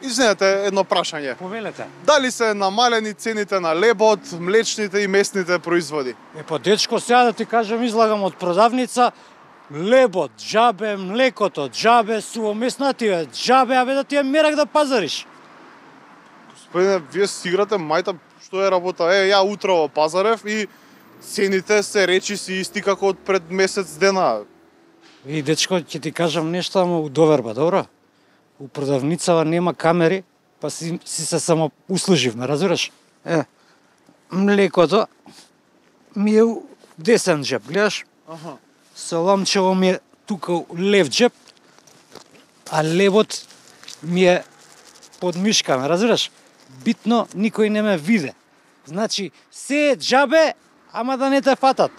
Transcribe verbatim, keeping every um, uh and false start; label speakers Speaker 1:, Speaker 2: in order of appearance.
Speaker 1: Извинете, едно прашање.
Speaker 2: Повелете.
Speaker 1: Дали се намалени цените на лебот, млечните и месните производи?
Speaker 2: Е, па дечко, сега да ти кажам, излагам од продавница, лебот, джабе, млекото, джабе, сувомеснативе, джабе, абе да ти е мерак да пазариш.
Speaker 1: Господине, вие си играте мајта, што е работа? Е, ја утро пазарев и цените се речи си исти како од пред месец дена.
Speaker 2: И дечко, ќе ти кажам нешто, ама у доверба, добро? У продавницава нема камери, па си, си се само услуживме, разбираш? Е, млекото ми е у десен джеб, гледаш?
Speaker 1: Аха.
Speaker 2: Саламчево ми е тука у лев джеб, а лебот ми е под мишками, разбираш? Битно никој не ме виде. Значи, се е джабе, ама да не те фатат.